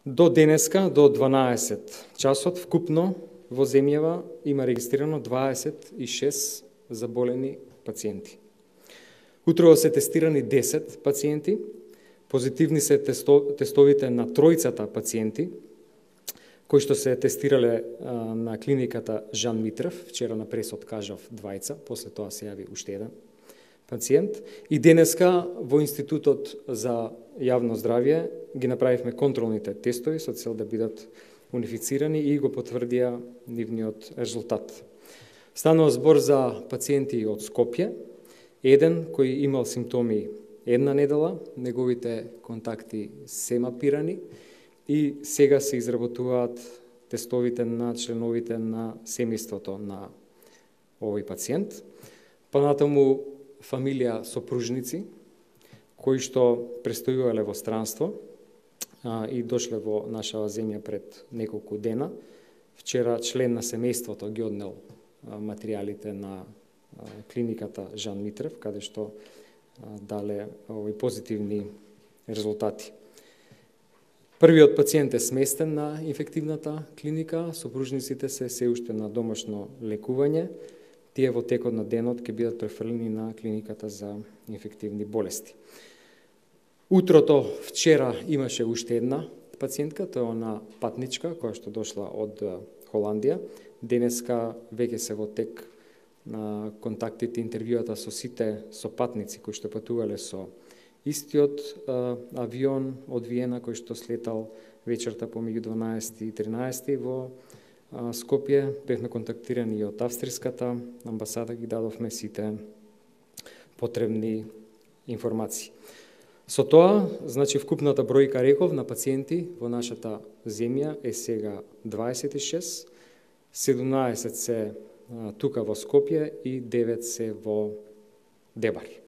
До денеска, до 12 часот, вкупно во земјава има регистрирано 26 заболени пациенти. Утрово се тестирани 10 пациенти, позитивни се тестовите на тројцата пациенти, кои што се тестирале на клиниката Жан Митрев, вчера на пресот кажав двајца, после тоа се јави уште еден пациент. И денеска во Институтот за јавно здравје ги направивме контролните тестови со цел да бидат унифицирани и го потврдија нивниот резултат. Станува збор за пациенти од Скопје, еден кој имал симптоми една недела, неговите контакти се мапирани и сега се изработуваат тестовите на членовите на семејството на овој пациент. Понатаму фамилија сопружници, кои што престојувале во странство и дошле во нашава земја пред неколку дена. Вчера член на семејството ги однел материјалите на клиниката Жан Митрев, каде што дале овој позитивни резултати. Првиот пациент е сместен на инфективната клиника, сопружниците се уште на домашно лекување. Тие во текот на денот ќе бидат префрлени на клиниката за инфективни болести. Утрото вчера имаше уште една пациентка, тоа е она патничка која што дошла од Холандија. Денеска веќе се во тек на контактите, интервјуата со сите сопатници кои што патувале со истиот авион од Виена кој што слетал вечерта помеѓу 12 и 13 во Скопје. Бевме контактирани и од австриската амбасада, ги дадовме сите потребни информации. Со тоа, значи, вкупната бројка, реков, на пациенти во нашата земја е сега 26, 17 се тука во Скопје и 9 се во Дебар.